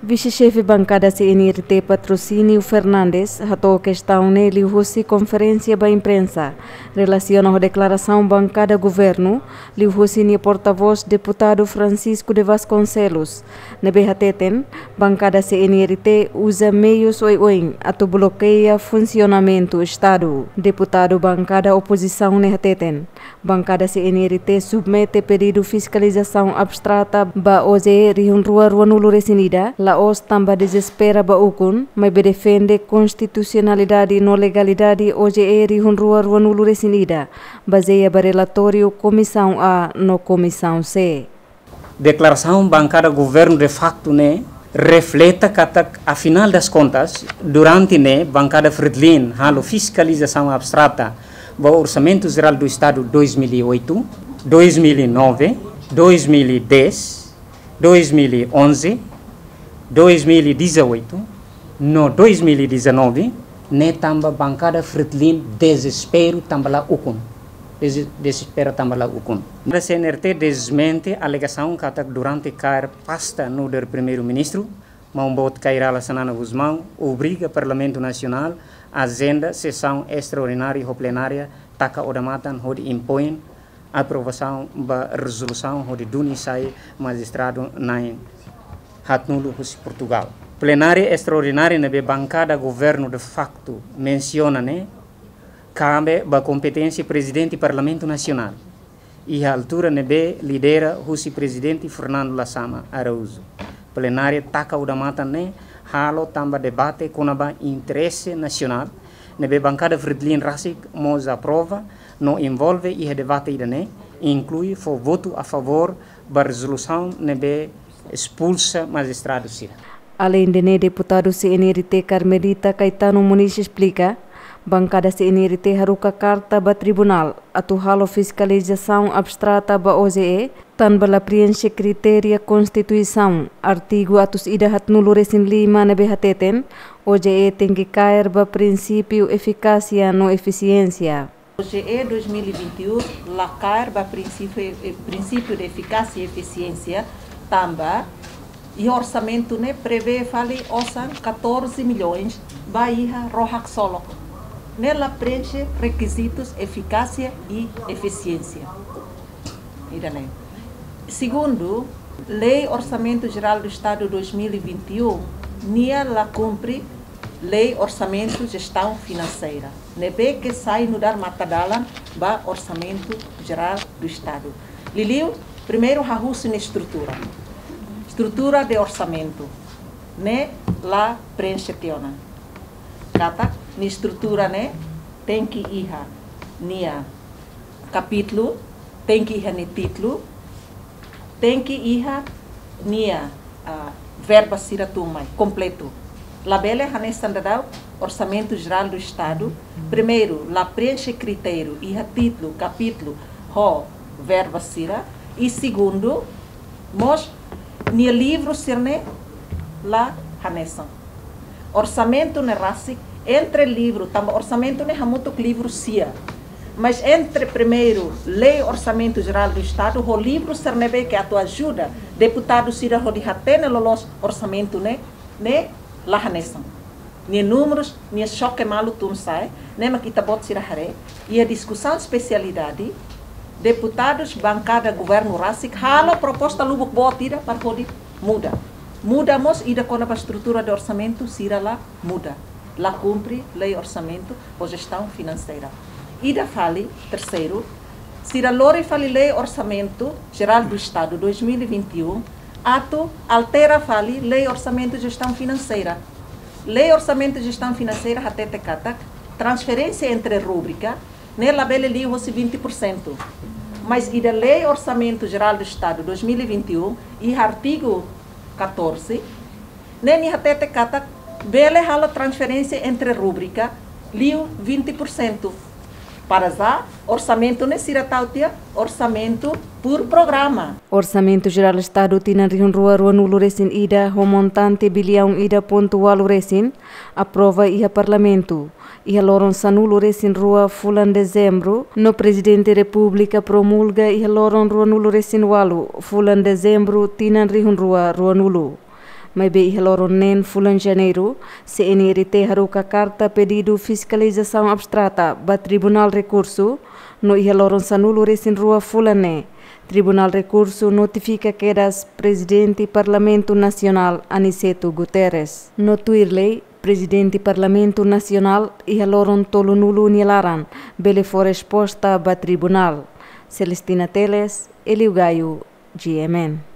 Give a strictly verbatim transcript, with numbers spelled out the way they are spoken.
Vise-Xefe Bankada C N R T Patrocínio Fernandes hato'o kestaun ne'e liuhusi konferénsia ba imprensa relasiona ho deklarasaun bankada governu, liuhusi nia portavós Deputadu Francisco de Vasconcelos, ne'ebé hateten, bankada C N R T uza meius oioin atu blokeia funsionamentu Estadu. Deputadu bankada opozisaun ne'e hateten, bankada C N R T submete pedidu fiskalizasaun abstrata ba O J E rihun rua ruanulu-resin-ida, la'ós tanba dezespera ba ukun, maibé defende konstitusionalidade no legalidade O J E rihun rua ruanulu-resin-ida, bazeia ba relatóriu Komisaun A no Komisaun C. Deklarasaun bankada governu de facto ne'e refleta katak, afinal das contas, durante ne'e bankada Fretilin halo fiskalizasaun abstrata ba Orsamentu Jerál do Estadu dois mil e oito, dois mil e nove, dois mil e dez, dois mil e onze, dois mil e dezoito, no dois mil e dezanove, ne'e tanba bankada Fretilin dezesperu tanba la ukun. Dezespera tanba la ukun. Bankada C N R T dezmente alegasaun katak durante kaer pasta nu'udar Primeiru-Ministru, Maun Boot Kay Rala Xanana Gusmão obriga Parlamentu Nasionál ajenda sesaun estraordinária ho plenária taka odamatan hodi impoin aprovasaun ba rezolusaun hodi duni sai majistradu na'in haatnulu husi Portugal. Plenária estraordinária ne'ebé bankada governu de facto mensiona ne'e kabe ba kompeténsia Prezidente Parlamentu Nasionál, iha altura ne'ebé lidera husi Prezidente Fernando Lasama Araújo. Plenária taka odamatan ne'e halo tanba debate kona-ba interese nasionál, ne'ebé bankada Fretilin rasik mós aprova no envolve iha debate ida-ne'e, inklui fó votu a favór ba rezolusaun ne'ebé espulsa majistradu sira. Aleinde ne'e, deputadu C N R T Carmelita Caetano Moniz esplika, bankada C N R T haruka karta ba tribunál atu halo fiskalizasaun abstrata ba O J E, tanba la preenxe kritéria Konstituisaun, artigu atus ida haatnulu-resin-lima ne'ebé hateten, O J E tenke kaer ba prinsípiu efikásia no efisiénsia. O J E dois mil e vinte e um la kaer ba prinsípiu, eh, prinsípiu de efikásia i efisiénsia, tanba iha orsamentu ne'e prevee fali osan catorze milhões ba iha ró haksolok. Ne'e la preenxe rekizitus efikásia i efisiénsia. Ida-ne'e. Segundu, Lei Orsamentu Jerál do Estadu dois mil e vinte e um, nia la kumpre Lei Orsamentu Jestaun Finanseira, ne'ebé ke sai nu'udar matadalan ba Orsamentu Jerál do Estadu. Liuliu, primeiru hahú sira-nia estrutura. Estrutura de orsamentu ne'e la preenxe tiha ona. Katak nia estrutura ne'e tenke iha nia kapítulu, tenke iha nia títulu, tenke iha nia, ah, verba sira tun mai kompletu. Labele hanesan daudaun Orsamentu Jerál do Estadu, primeiru, la preenxe kritériu iha títulu, kapítulu, ho verba sira, i segundu, mós nia livru sira-ne'e la hanesan. Orsamentu ne'e rasik entre livru, tanba orsamentu ne'e hamutuk livru sia. Mas entre primeiru Lei Orsamentu Jerál do Estadu ho livru sira ne'ebé ke atu ajuda deputadu sira hodi hatene loloos orsamentu ne'e, ne'e la hanesan. Nia númerus, nia xoke malu tun sa'e, ne'e mak ita-boot sira haree, iha diskusaun espesialidade, deputadus bankada governu rasik halo proposta lubuk boot ida para hodi muda. Muda mós ida kona-ba estrutura de orsamentu, sira la muda. La kumpre Lei Orsamentu ho Jestaun Finanseira. Ida fali, terseiru, sira lori fali Lei Orsamentu Jerál do Estadu dois mil e vinte e um, atu altera fali Lei Orsamentu Jestaun Finanseira. Lei Orsamentu Jestaun Finanseira hatete katak transferénsia entre rúbrika ne'e labele liu hosi vinte por cento. Mas iha Lei Orsamentu Jerál do Estadu dois mil e vinte e um, iha artigu catorze, ne'e nia hatete katak bele halo transferénsia entre rúbrika liu vinte por cento. Para já, orsamentu ne'e sira tau tiha orsamentu por programa. Orsamentu Jerál Estadu tinan rihun rua ruanulu-resin-ida ho montante biliaun ida pontu ualu resin aprova iha Parlamentu iha loron sanulu-resin-rua fulan Dezembru, no Prezidente Repúblika promulga iha loron ruanulu-resin-ualu fulan Dezembru tinan rihun rua ruanulu. Maibé iha loron neen fulan Janeiru, C N R T haruka karta pedidu fiskalizasaun abstrata ba Tribunál Rekursu, no iha loron sanulu resin rua fulan ne'e, Tribunál Rekursu notifika kedas Prezidente Parlamentu Nasionál Aniceto Guterres. No tuir lei, Prezidente Parlamentu Nasionál iha loron tolunulu nia laran bele fó resposta ba Tribunál. Celestina Teles, Elio Gaio, G M N.